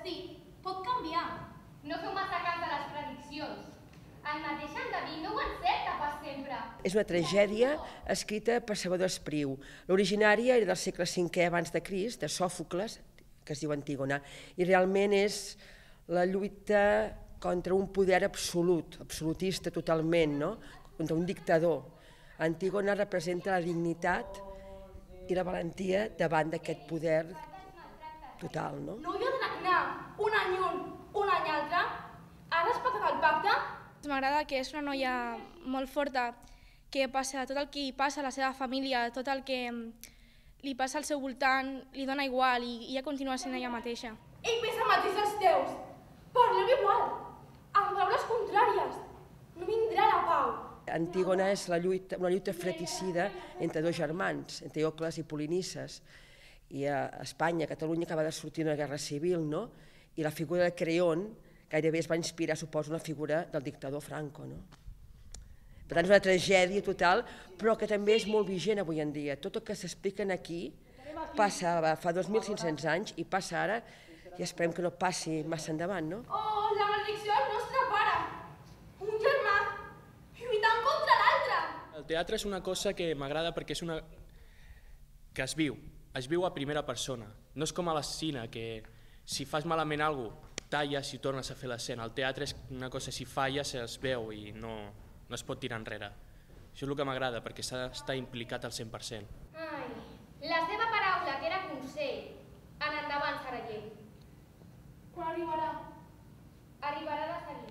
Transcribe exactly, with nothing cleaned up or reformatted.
destí pot canviar. No feu massa cas de les prediccions. El mateix en David no ho encerta pas sempre. És una tragèdia escrita per Salvador Espriu. L'originària era del segle cinquè abans de Crist, de Sòfocles, que es diu Antígona, i realment és la lluita contra un poder absolut, absolutista totalment, no? Contra un dictador. Antígona representa la dignitat i la valentia davant d'aquest poder total, no? No hi ha d'anar un any un, un any altre? Ha respectat el pacte? M'agrada que és una noia molt forta, que passa tot el que hi passa a la seva família, tot el que li passa al seu voltant, li dona igual i ella continua sent ella mateixa. Ell pensa el mateix dels teus. Parleu igual, amb paraules contràries. No vindrà la pau. Antígona és la lluita, una lluita fratricida entre dos germans, entre Eteocles i Polinices. I a Espanya, a Catalunya, acaba de sortir una guerra civil, no? I la figura de Creont gairebé es va inspirar, suposo, una figura del dictador Franco, no? Per tant, és una tragèdia total, però que també és molt vigent avui en dia. Tot el que s'explica aquí passa fa dos mil cinc-cents anys i passa ara, i esperem que no passi massa endavant, no? Oh, la maledicció del nostre pare! Un germà lluitant contra l'altre! El teatre és una cosa que m'agrada perquè és una... que es viu, es viu a primera persona. No és com a la cine, que si fas malament alguna cosa, talles i tornes a fer l'escena. El teatre és una cosa, si falles es veu i no, no es pot tirar enrere. Això és el que m'agrada, perquè s'ha d'estar implicat al cent per cent. Ai, la seva paraula, que era consell, en endavant serà llei. Quan arribarà? Arribarà de seguida.